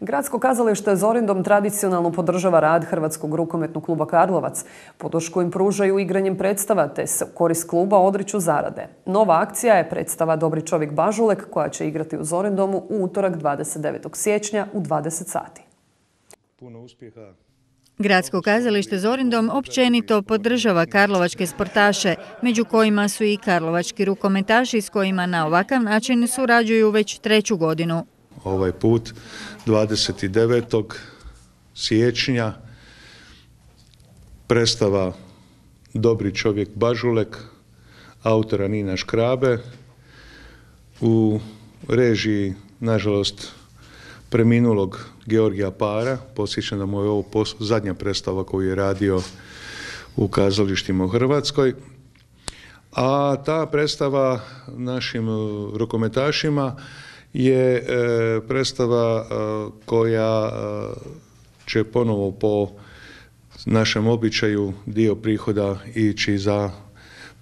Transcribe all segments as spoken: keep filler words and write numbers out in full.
Gradsko kazalište Zorindom tradicionalno podržava rad Hrvatskog rukometnog kluba Karlovac. Podršku im pružaju igranjem predstava te se u korist kluba odriču zarade. Nova akcija je predstava Dobri čovjek Bažulek koja će igrati u Zorindomu u utorak dvadeset devetog siječnja u dvadeset sati. Puno uspjeha. Gradsko kazalište Zorindom općenito podržava karlovačke sportaše, među kojima su i karlovački rukometaši s kojima na ovakav način surađuju već treću godinu. Ovaj put dvadeset devetog siječnja predstava Dobri čovjek Bažulek autora Nina Škrabe u režiji, nažalost, preminulog Georgija Para. Podsjećam da mu je ovo zadnja predstava koju je radio u kazalištima u Hrvatskoj. A ta predstava našim rukometašima je e, predstava e, koja e, će ponovo po našem običaju dio prihoda ići za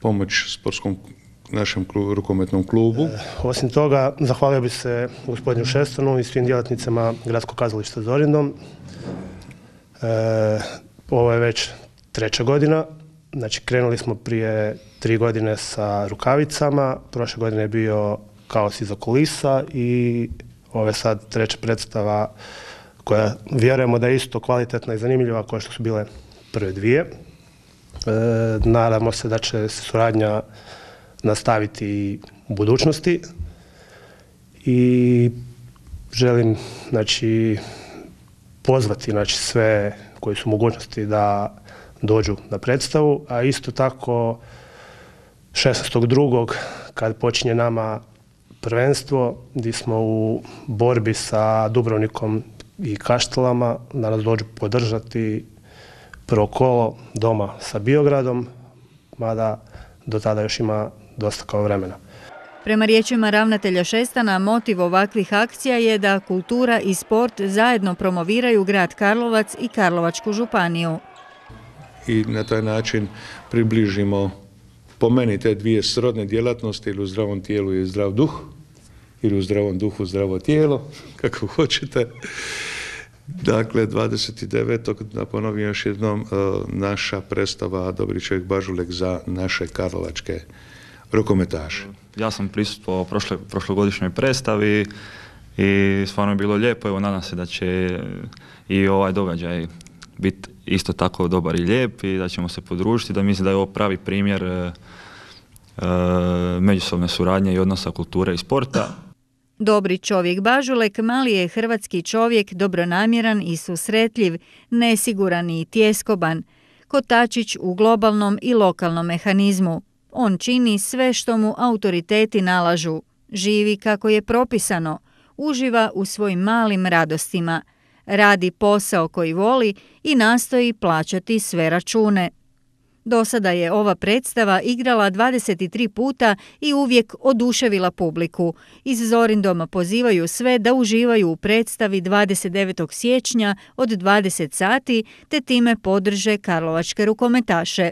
pomoć sportskom našem klubu, rukometnom klubu. E, osim toga, zahvalio bi se gospodinu Šestonu i svim djelatnicama Gradskog kazališta Zorindom. E, ovo je već treća godina. Znači, krenuli smo prije tri godine sa rukavicama. Prošle godine je bio Kaos iza kulisa i ovo je sad treća predstava koja vjerujemo da je isto kvalitetna i zanimljiva kao što su bile prve dvije. E, nadamo se da će se suradnja nastaviti i u budućnosti i želim, znači, pozvati, znači, sve koji su u mogućnosti da dođu na predstavu, a isto tako šesnaestog drugog kad počinje nama prvenstvo gdje smo u borbi sa Dubrovnikom i Kaštelama, da nas dođu podržati prvo kolo doma sa Biogradom, mada do tada još ima dosta kao vremena. Prema riječima ravnatelja Šestana, motiv ovakvih akcija je da kultura i sport zajedno promoviraju grad Karlovac i Karlovačku županiju. I na taj način približimo, po meni, te dvije srodne djelatnosti, ili u zdravom tijelu je zdrav duh, ili u zdravom duhu zdravo tijelo, kako hoćete. Dakle, dvadeset devetog da ponovim još jednom, naša predstava Dobri čovjek Bažulek za naše karlovačke rukometaše. Ja sam prisustvovao prošle, prošlogodišnjoj predstavi i stvarno je bilo lijepo. Evo, nadam se da će i ovaj događaj biti isto tako dobar i lijep i da ćemo se podružiti, da mislim da je ovo pravi primjer e, e, međusobne suradnje i odnosa kulture i sporta. Dobri čovjek Bažulek mali je hrvatski čovjek, dobronamjeran i susretljiv, nesiguran i tjeskoban, kotačić u globalnom i lokalnom mehanizmu. On čini sve što mu autoriteti nalažu, živi kako je propisano, uživa u svojim malim radostima, radi posao koji voli i nastoji plaćati sve račune. Do sada je ova predstava igrala dvadeset tri puta i uvijek oduševila publiku. Iz Zorindoma pozivaju sve da uživaju u predstavi dvadeset devetog siječnja od dvadeset sati te time podrže karlovačke rukometaše.